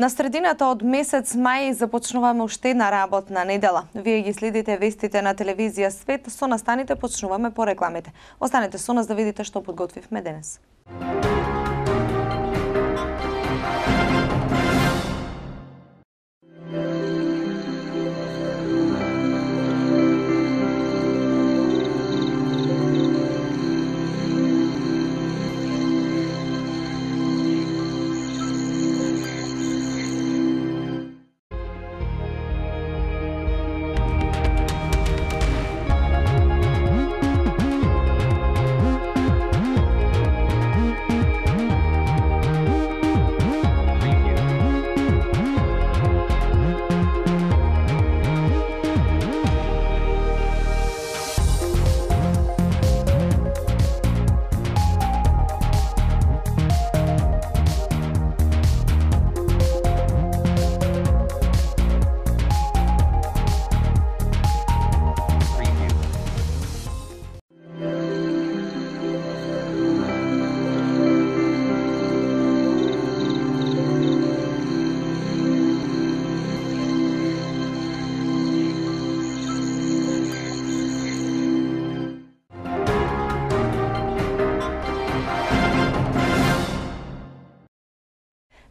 На средината од месец мај започнуваме уште една работна недела. Вие ги следите вестите на телевизија Свет, со настаните почнуваме по рекламите. Останете со нас да видите што подготвивме денес.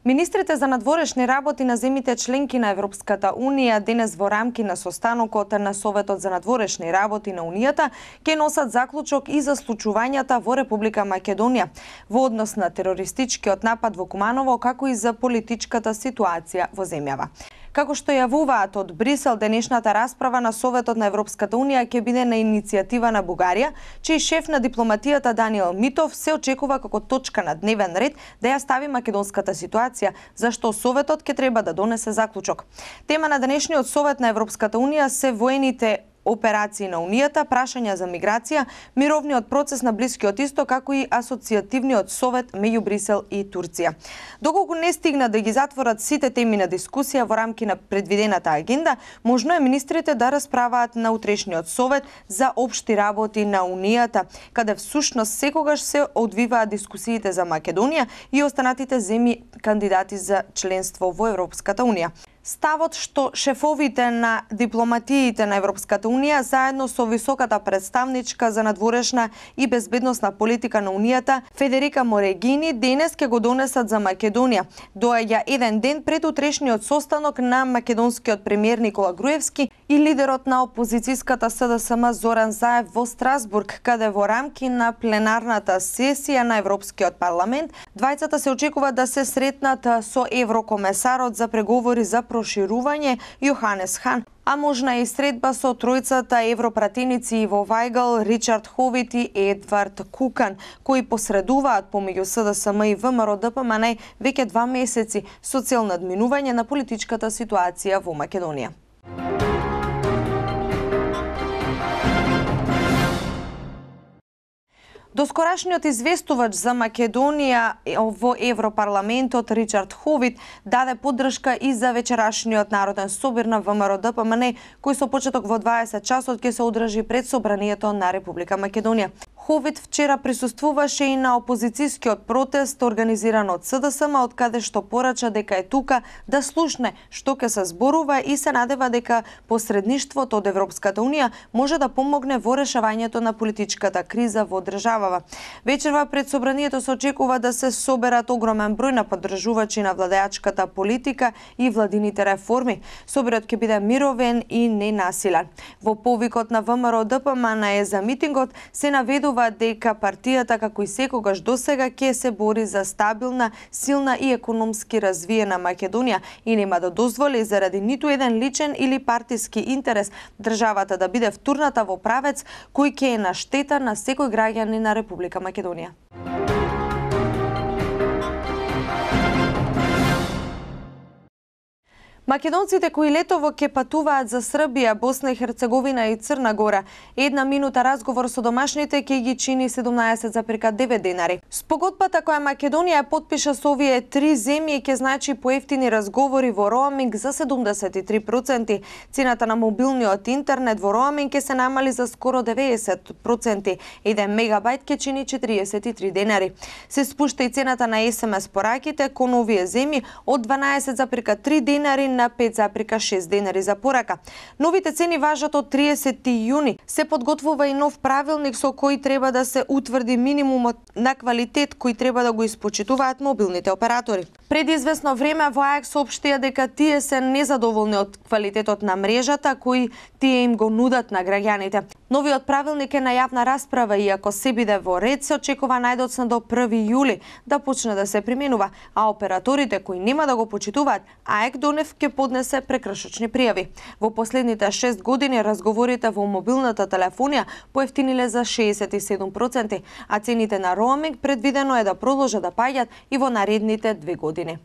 Министрите за надворешни работи на земјите членки на Европската Унија денес во рамки на состанокот на Советот за надворешни работи на Унијата ќе носат заклучок и за случувањата во Република Македонија во однос на терористичкиот напад во Куманово, како и за политичката ситуација во земјава. Како што јавуваат од Брисел, денешната расправа на Советот на Европската Унија ќе биде на иницијатива на Бугарија, чиј шеф на дипломатијата Даниел Митов се очекува како точка на дневен ред да ја стави македонската ситуација, зашто Советот ќе треба да донесе заклучок. Тема на денешниот Совет на Европската Унија се воените операции на Унијата, прашања за миграција, мировниот процес на Блискиот Исток, како и асоцијативниот совет меѓу Брисел и Турција. Доколку не стигна да ги затворат сите теми на дискусија во рамки на предвидената агенда, можно е министрите да расправаат на утрешниот совет за општи работи на Унијата, каде всушност секогаш се одвиваат дискусиите за Македонија и останатите земји кандидати за членство во Европската Унија. Ставот што шефовите на дипломатиите на Европската Унија заедно со високата представничка за надворешна и безбедносна политика на Унијата Федерика Морегини денес ќе го донесат за Македонија. Доаѓа еден ден пред утрешниот состанок на македонскиот премиер Никола Груевски и лидерот на опозицијската СДСМ Зоран Заев во Страсбург, каде во рамки на пленарната сесија на Европскиот парламент двајцата се очекува да се сретнат со еврокомесарот за преговори за проширување Јоханес Хан, а можна и средба со тројцата европратеници Иво Вајгал, Ричард Ховит и Едвард Кукан, кои посредуваат помеѓу СДСМ и ВМРО-ДПМН веќе 2 месеци со цел надминување на политичката ситуација во Македонија. Доскорашниот известувач за Македонија во Европарламентот Ричард Ховит даде поддршка и за вечерашниот народен собир на ВМРО-ДПМН, кој со почеток во 20 часот ќе се одржи пред Собранието на Република Македонија. Ховит вчера присуствуваше и на опозицијскиот протест организиран од СДСМ, од каде што порача дека е тука да слушне што ќе се зборува и се надева дека посредништвото од Европската Унија може да помогне во решавањето на политичката криза во државава. Вечерва пред Собранието се очекува да се соберат огромен број на поддржувачи на владеачката политика и владините реформи. Соборот ќе биде мировен и ненасилен. Во повикот на ВМРО-ДПМН за митингот се наведува дека партијата, како и секогаш досега, ќе се бори за стабилна, силна и економски развиена Македонија и нема да дозволи заради ниту еден личен или партиски интерес државата да биде втурната во правец кој ќе е на штета на секој граѓанин на Република Македонија. Македонците кои летово ќе патуваат за Србија, Босна и Херцеговина и Црна Гора, една минута разговор со домашните ќе ги чини 17,9 денари. Спогодбата која Македонија потпиша со овие три земји ќе значи поевтини разговори во роаминг за 73%. Цената на мобилниот интернет во роаминг ќе се намали за скоро 90%. 1 мегабајт ќе чини 43 денари. Се спушта и цената на SMS пораките кон овие земји од 12,3 денари на 5,6 денари за порака. Новите цени важат од 30 јуни. Се подготвува и нов правилник со кој треба да се утврди минимумот на квалитет кој треба да го испочитуваат мобилните оператори. Пред известно време во АЕК соопштија дека тие се незадоволни од квалитетот на мрежата кој тие им го нудат на граѓаните. Новиот правилник е на јавна расправа и ако се биде во ред, се очекува најдоцна до 1 јули да почне да се применува, а операторите кои нема да го почитуваат, АЕК до нив ќе поднесе прекршочни пријави. Во последните 6 години разговорите во мобилната телефонија поевтиниле за 67%, а цените на роаминг предвидено е да продолжат да паѓаат и во наредните 2 години.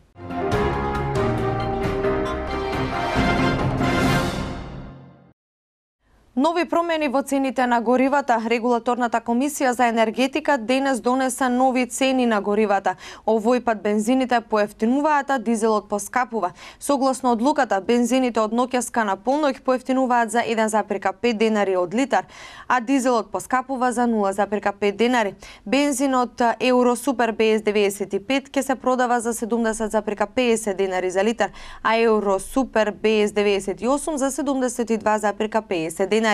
Нови промени во цените на горивата. Регулаторната комисија за енергетика денес донесе нови цени на горивата. Овој пат бензините поевтинуваат, а дизелот поскапува. Согласно одлуката, бензините од ноќеска на полноќ поевтинуваат за 1,5 денари од литар, а дизелот поскапува за 0,5 денари. Бензинот Евро Супер БС 95 ќе се продава за 70,50 денари за литар, а Евро Супер БС 98 за 72,50 денари.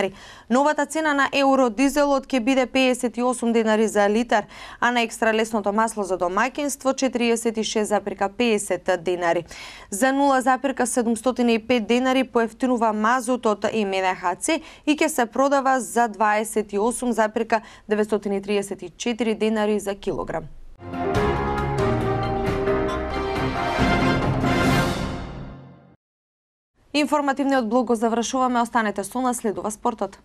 Новата цена на евро дизелот ќе биде 58 денари за литар, а на екстра лесното масло за домаќинство 46,50 денари. За 0,705 денари поевтинува мазутот и МНХЦ и ќе се продава за 28,934 денари за килограм. Информативниот блог го завршуваме, останете со нас, следува спортот.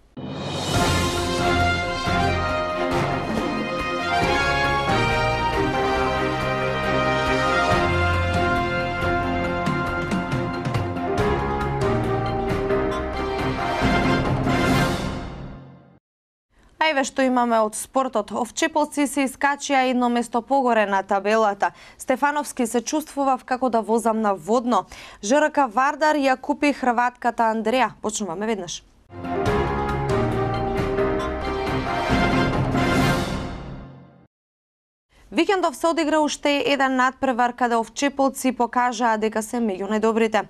Еве што имаме од спортот. Овчеполци се искачија едно место погоре на табелата. Стефановски се чувствував како да возам на водно. ЖРК Вардар ја купи хрватката Андреја. Почнуваме веднаш. Викендов се одигра уште еден надпревар каде овчеполци покажаа дека се меѓу најдобрите.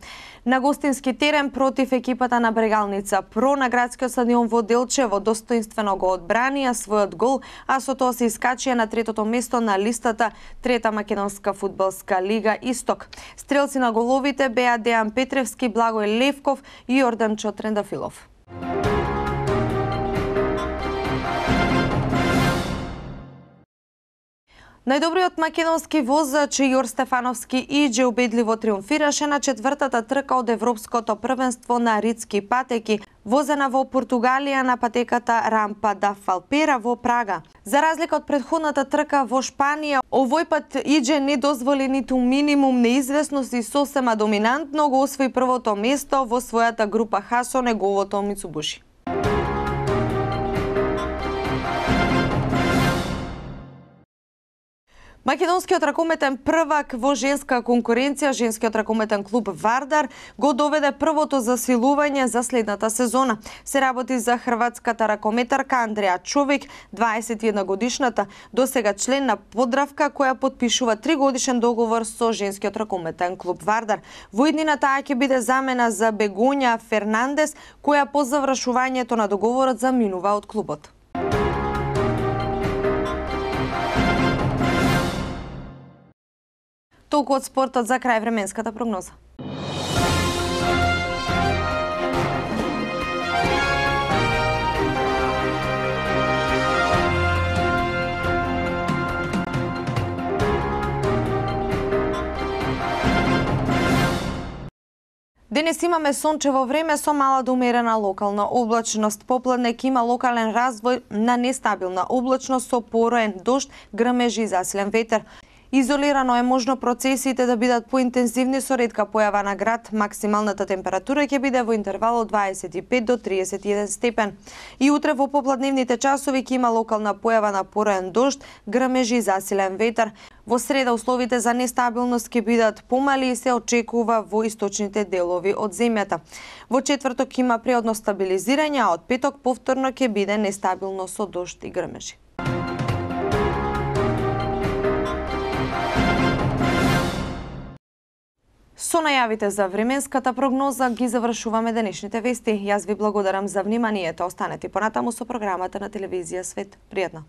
На гостински терен против екипата на Брегалница Про на градскиот стадион во Делчево достоинствено го одбранија својот гол, а со тоа се искачија на третото место на листата Трета македонска фудбалска лига Исток. Стрелци на головите беа Дејан Петревски, Благој Левков и Јорданчо Трендафилов. Најдобриот македонски возач Јор Стефановски Иџе убедливо триумфираше на четвртата трка од Европското првенство на ридски патеки, возена во Португалија на патеката Рампа да Фалпера во Прага. За разлика од претходната трка во Шпанија, овој пат Иџе не дозволи ниту минимум неизвестност и сосема доминантно го освои првото место во својата група Х со неговото Мицубуши. Македонскиот ракометен првак во женска конкуренција, женскиот ракометен клуб Вардар, го доведе првото засилување за следната сезона. Се работи за хрватската ракометарка Андреја Човек, 21 годишната, досега член на Подравка, која потпишува 3-годишен договор со женскиот ракометен клуб Вардар. Во иднина таа ќе биде замена за Бегоња Фернандес, која по завршувањето на договорот заминува од клубот. Толку од спортот, за крај временската прогноза. Денес имаме сончево време со мала до умерена локална облачност. Попладне ќе има локален развој на нестабилна облачност со пороен дожд, грмежи и засилен ветер. Изолирано е можно процесите да бидат поинтензивни со ретка појава на град. Максималната температура ќе биде во интервал од 25 до 31 степен. И утре во попладневните часови ќе има локална појава на пороен дожд, грмежи и засилен ветар. Во среда условите за нестабилност ќе бидат помали и се очекува во источните делови од земјата. Во четврток има преодно стабилизирање, а од петок повторно ќе биде нестабилно со дожд и грмежи. Со најавите за временската прогноза ги завршуваме денешните вести. Јас ви благодарам за вниманието. Останете понатаму со програмата на телевизија Свет. Пријатно!